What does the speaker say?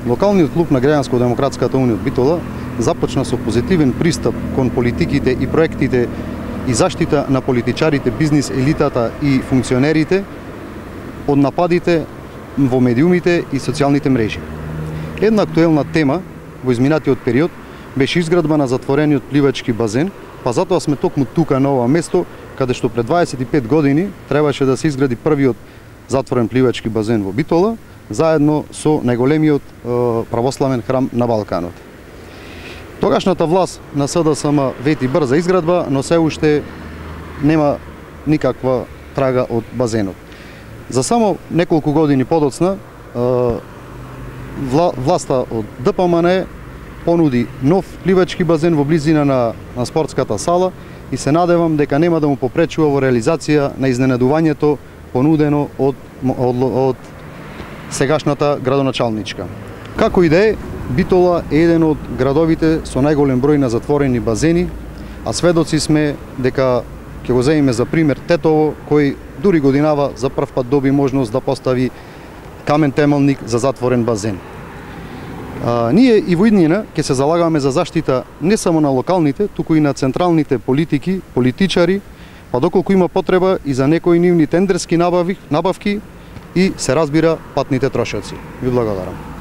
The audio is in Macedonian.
Локалниот клуб на Граѓанско-демократската унија од Битола започна со позитивен пристап кон политиките и проектите и заштита на политичарите, бизнис елитата и функционерите од нападите во медиумите и социјалните мрежи. Една актуелна тема во изминатиот период беше изградба на затворениот пливачки базен, па затоа сме токму тука на ова место, каде што пред 25 години требаше да се изгради првиот затворен пливачки базен во Битола, заедно со најголемиот православен храм на Балканот. Тогашната власт на СДСМ вети брза изградба, но се уште нема никаква трага од базенот. За само неколку години подоцна, власта од ДПМН понуди нов пливачки базен во близина на спортската сала и се надевам дека нема да му попречува во реализација на изненадувањето понудено од сегашната градоначалничка. Како и да е, Битола е еден од градовите со најголем број на затворени базени, а сведоци сме дека ќе го земеме за пример Тетово, кој дури годинава за прв пат доби можност да постави камен темелник за затворен базен. Ние и во иднина ќе се залагаме за заштита не само на локалните, туку и на централните политики, политичари, па доколку има потреба и за некои нивни тендерски набавки и се разбира патните трошоци. Ви благодарам.